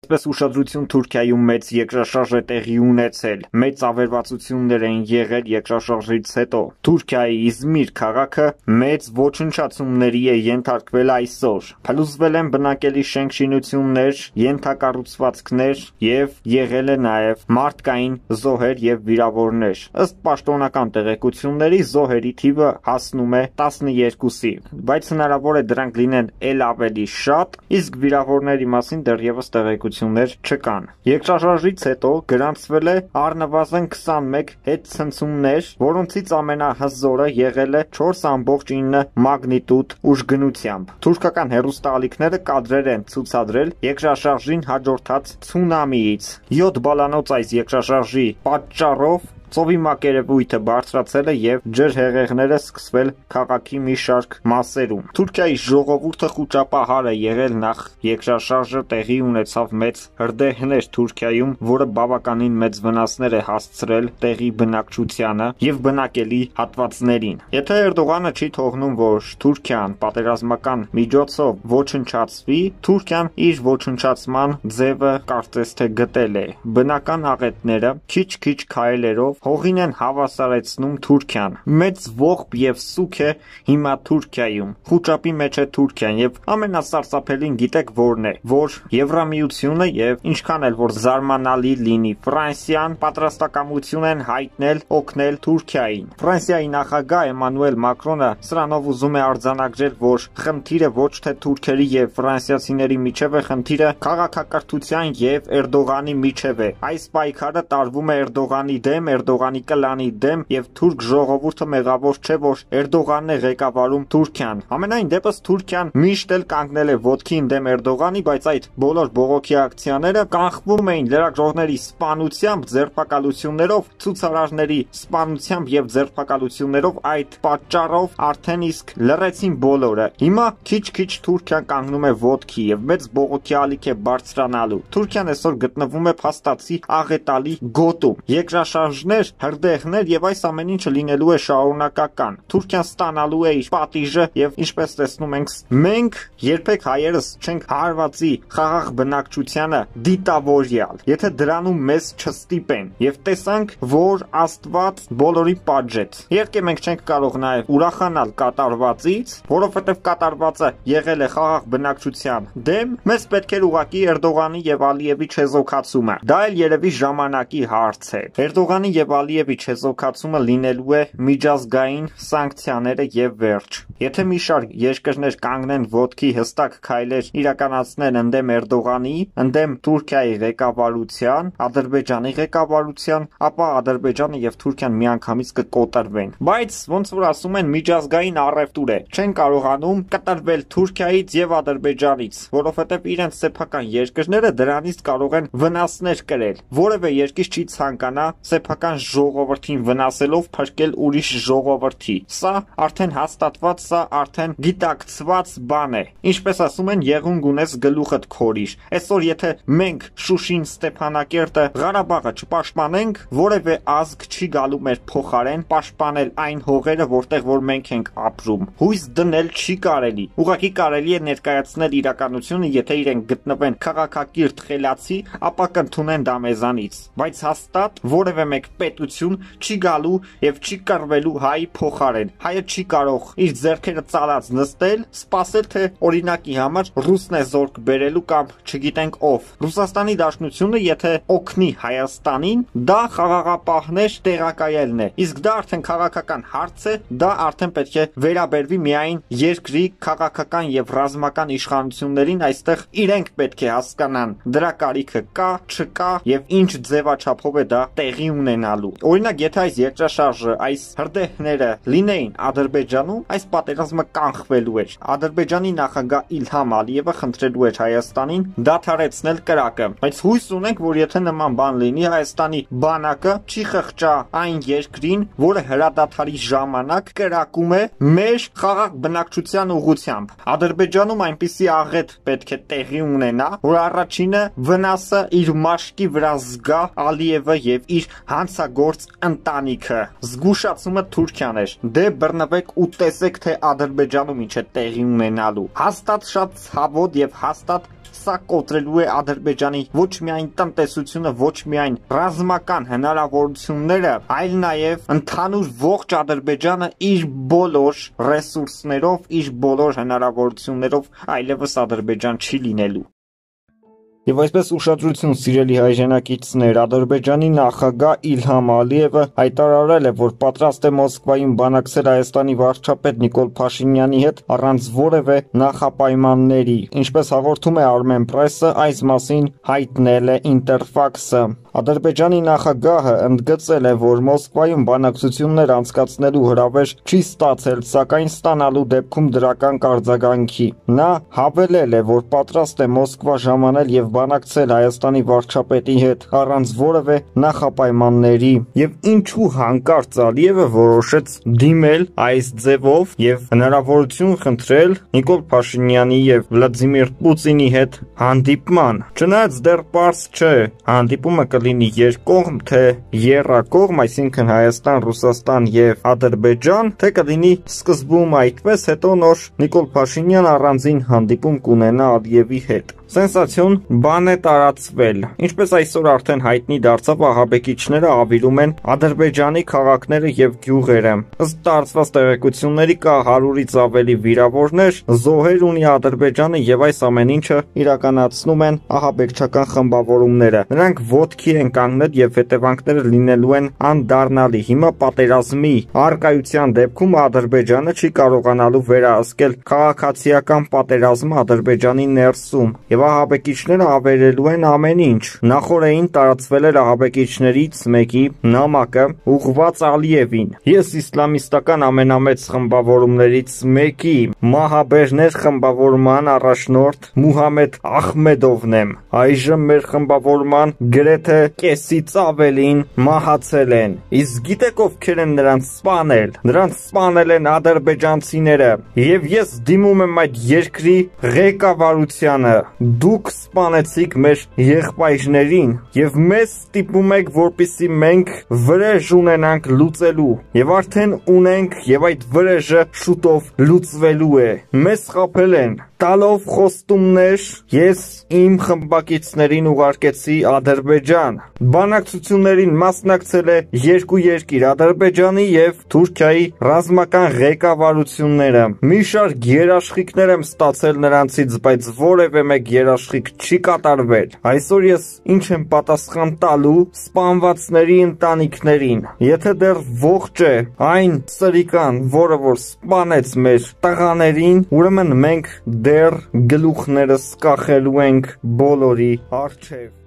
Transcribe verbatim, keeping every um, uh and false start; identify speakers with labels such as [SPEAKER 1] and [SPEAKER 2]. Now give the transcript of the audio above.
[SPEAKER 1] Այսպես ուշադրություն Թուրքիայում մեծ երկրաշարժ է տեղի ունեցել, մեծ ավերվածություններ են եղել երկրաշարժից հետո։ Թուրքիայի Իզմիր քաղաքը մեծ ոչնչացումների է ենթարկվել այսօր։ Փլուզվել են բնակելի շենք-շինություններ, ենթակառուցվածքներ եւ եղել է նաեւ մարդկային զոհեր եւ վիրավորներ։ Ըստ պաշտոնական տեղեկությունների զոհերի թիվը հասնում է տասնյոթի, բայց հնարավոր է դրանք լինեն ել ավելի շատ, իսկ վիրավորների մասին դեռևս տեղեկություններ չկան։ Երկրաշարժից հետո գրանցվել է առնվազն քսանմեկ հետցնցումներ, որոնցից ամենահզորը եղել է չորս ամբողջ ինը մագնիտուդ ուժգնությամբ։ Թուրքական հեռուստաալիքները կադրեր են ցուցադրել երկրաշարժին հաջորդած ցունամիից։ յոթ բալանոց այս երկրաշարժի պատճառով ծովի մակերևույթը բարձրացել է եւ ջրհեղեղները սկսվել քաղաքի մի շարք մասերում։ Թուրքիայի ժողովուրդը խուճապահար է եղել նախ երկրաշարժը տեղի ունեցավ մեծ հրդեհներ Թուրքիայում, որը բավականին մեծ վնասներ է հասցրել տեղի բնակչությանը եւ բնակելի հատվածներին։ Եթե Էրդողանը չի թողնում, որ Թուրքիան պատերազմական միջոցով ոչնչացվի, Թուրքիան իր ոչնչացման ձևը կարծես թե գտել է։ Բնական աղետները քիչ-քիչ քայլերով հողին են հավասարեցնում Թուրքիան։ Մեծ ողբ եւ սուք է հիմա Թուրքիայում։ Խուճապի մեջ է Թուրքիան եւ ամենասարսափելին գիտեք որն է, որ Եվրամիությունը եւ ինչքան էլ որ զարմանալի լինի, Ֆրանսիան պատրաստակամություն են հայտնել օգնել Թուրքիային։ Ֆրանսիայի նախագահ Էմանուել Մակրոնը սրանով ուզում է արձանագրել, որ խնդիրը ոչ թե թուրքերի եւ ֆրանսիացիների միջև է, խնդիրը քաղաքակրթության եւ Էրդողանի միջև է։ Այս պայքարը տարվում է Էրդողանի դեմ, Էրդողանի կլանի դեմ եւ թուրք ժողովուրդը մեղավոր չէ, որ Էրդողանն է ղեկավարում Թուրքիան։ Ամենայն դեպս Թուրքիան միշտ էլ կանգնել է ոտքին դեմ Էրդողանի, բայց այդ բոլոր բողոքի ակցիաները կանխվում էին լրագրողների սպանությամբ, ձերբակալություններով, ցուցարարների սպանությամբ եւ ձերբակալություններով, այդ պատճառով արդեն իսկ լռեցին բոլորը։ Հիմա քիչ-քիչ Թուրքիան կանգնում է ոտքի եւ մեծ բողոքի ալիք է բարձրանալու։ Թուրքիան այսօր գտնվում է փաստացի աղետալի գոտում։ Երկրաշարժներ, հրդեհներ եւ այս ամեն ինչը լինելու է շարունակական։ Թուրքիան ստանալու է իր պատիժը եւ ինչպես տեսնում ենք, մենք երբեք հայերս չենք հարվածի խաղաղ բնակչությանը դիտավորյալ, եթե դրանում մեզ չստիպեն եւ տեսանք, որ Աստված բոլորի պատժեց։ Իհարկե մենք չենք կարող նաեւ ուրախանալ կատարվածից, որովհետեւ կատարվածը եղել է խաղաղ բնակչության դեմ, մեզ պետք էր ուղղակի Էրդողանի եւ Ալիևի չեզոքացումը։ Դա էլ երևի ժամանակի հարց է։ Էրդողանի եւ Ալիևի չեզոքացումը լինելու է միջազգային սանկցիաները եւ վերջ։ Եթե մի շարք երկրներ կանգնեն ոտքի հստակ քայլեր իրականացնեն ընդդեմ Էրդողանի, ընդդեմ Թուրքիայի ղեկավարության, Ադրբեջանի ղեկավարության, ապա Ադրբեջանը եւ Թուրքիան միանգամից կկոտրվեն։ Բայց ոնց որ ասում են, միջազգային առևտուր է։ Չեն կարողանում կտրվել Թուրքիայից եւ Ադրբեջանից, որովհետեւ իրենց սեփական երկրները դրանից կարող են վնասներ կրել։ Որևէ երկիր չի ցանկանա սեփական ժողովրդին վնասելով փրկել ուրիշ ժողովրդի։ Սա արդեն հաստատված, սա արդեն գիտակցված բան է։ Ինչպես ասում են, եղունգ ունես գլուխդ քորիր։ Այսօր եթե մենք Շուշին, Ստեփանակերտը, Ղարաբաղը չպաշտպանենք, որևէ ազգ չի գալու մեր փոխարեն պաշտպանել այն հողերը, որտեղ որ մենք ենք ապրում։ Հույս դնել չի կարելի։ Ուղղակի կարելի է ներկայացնել իրականությունը, եթե իրենք գտնվեն քաղաքակիրթ խելացի, ապա կընդունեն դա մեզանից։ Բայց հաստատ որևէ մեկ պետություն չի գալու եւ չի կռվելու հայի փոխարեն։ Հայը չի կարող իր ձեռքերը ծալած նստել, սպասել թե օրինակի համար ռուսն է զորք բերելու կամ չգիտենք ով։ Ռուսաստանի Դաշնությունը եթե օգնի Հայաստանին, դա խաղաղապահներ տեղակայելն է։ Իսկ դա արդեն քաղաքական հարց է, դա արդեն պետք է վերաբերվի միայն երկրի քաղաքական եւ ռազմական իշխանություններին, այստեղ իրենք պետք է հասկանան դրա կարիքը կա, չկա եւ ինչ ձևաչափով է դա տեղի ունենալու։ Օրինակ, եթե այս երկրաշարժը, այս հրդեհները լինեին Ադրբեջանում, այս պատերազմը կանխվելու էր։ Ադրբեջանի նախագահ Իլհամ Ալիևը խնդրելու էր Հայաստանին դադարեցնել կրակը։ Բայց հույս ունենք, որ եթե նման բան լինի, Հայաստանի բանակը չի խղճա այն երկրին, որը հրադադարի ժամանակ կրակում է մեր խաղաղ բնակչության ուղղությամբ։ Ադրբեջանում այնպիսի աղետ պետք է տեղի ունենա, որ առաջինը վնասը իր մաշկի վրա զգա Ալիևը եւ իր հանցագործ ընտանիքը։ Զգուշացումը Թուրքիան էր։ Դե բռնվեք ու տեսեք, թե Ադրբեջանում ինչ է տեղի ունենալու։ Հաստատ շատ ցավոտ եւ հաստատ սա կոտրելու է Ադրբեջանի ոչ միայն տնտեսությունը, ոչ միայն ռազմական հնարավորությունները, այլ նաև ընդհանուր ողջ Ադրբեջանը իր բոլոր ռեսուրսներով, իր բոլոր հնարավորություններով այլևս Ադրբեջան չի լինելու։ Եվ այսպես ուշադրություն սիրելի հայրենակիցներ, Ադրբեջանի նախագահ Իլհամ Ալիևը հայտարարել է, որ պատրաստ է Մոսկվայում բանակցել Հայաստանի վարչապետ Նիկոլ Փաշինյանի հետ առանց որևէ նախապայմանների։ Ինչպես հաղորդում է Armen Press-ը, այս մասին հայտնել է Interfax-ը։ Ադրբեջանի նախագահը ընդգծել է, որ Մոսկվայում բանակցություններ անցկացնելու հրավեր չի ստացել, սակայն ստանալու դեպքում դրական կարձագանքի։ Նա հավելել է, որ պատրաստ է Մոսկվա ժամանել եւ բանակցել Հայաստանի վարչապետի հետ առանց որևէ նախապայմանների։ Եվ ինչու հանկարծ Ալիևը որոշեց դիմել այս ձևով եւ հնարավորություն խնդրել Նիկոլ Փաշինյանի եւ Վլադիմիր Պուտինի հետ հանդիպման։ Չնայած դեռ պարզ չէ, հանդիպումը կլինի երկկողմ, թե եռակողմ, այսինքն Հայաստան, Ռուսաստան եւ Ադրբեջան, թե կլինի սկզբում այդպես, հետո նոր Նիկոլ Փաշինյան առանձին հանդիպում կունենա Ալիևի հետ։ Սենսացիոն բան է տարածվել։ Ինչպես այսօր արդեն հայտնի դարձավ, ահաբեկիչները ավիրում են Ադրբեջանի քաղաքները եւ գյուղերը։ Ըստ տարածված տեղեկությունների կա հարյուրից ավելի վիրավորներ, զոհեր ունի Ադրբեջանը եւ այս ամեն ինչը իրականացնում են ահաբեկչական խմբավորումները։ Նրանք ոտքի են կանգնել եւ հետևանքները լինելու են անդառնալի։ Հիմա պատերազմի առկայության դեպքում Ադրբեջանը չի կարողանալու վերահսկել քաղաքացիական պատերազմը Ադրբեջանի ներսում եւ ահաբեկիչները ավերելու են ամեն ինչ։ Նախորդին տարածվել էր ահաբեկիչներից մեկի նամակը ուղղված Ալիևին։ Ես իսլամիստական ամենամեծ խմբավորումներից մեկի մահաբերներ խմբավորման առաջնորդ Մուհամեդ Ախմեդովն եմ։ Այժմ մեր խմբավորման գրեթե կեսից ավելին մահացել են։ Իսկ գիտեք ովքեր են նրանց սպանել։ Նրանց սպանել են ադրբեջանցիները։ Եվ ես դիմում եմ այդ երկրի ղեկավարությանը։ Դուք սպանեցիք մեր եղբայրներին եւ մեզ ստիպում եք, որպեսզի մենք վրեժ ունենանք լուծելու եւ արդեն ունենք եւ այդ վրեժը շուտով լուծվելու է։ Մեզ խաբել են տալով խոստումներ, ես իմ խմբակիցներին ուղարկեցի Ադրբեջան։ Բանակցություններին մասնակցել է երկու երկիր՝ Ադրբեջանի եւ Թուրքիայի ռազմական ղեկավարությունները։ Մի շարք երաշխիքներ եմ ստացել նրանցից, բայց որևէ մեկ երաշխիք չի կատարվել։ Այսօր ես ինչ եմ պատասխան տալու սպանվածների ընտանիքներին։ Եթե դեռ ողջ է այն սրիկան, որը որ սպանեց մեր տղաներին, ուրեմն մենք դեռ գլուխներս կախելու ենք բոլորի առջև։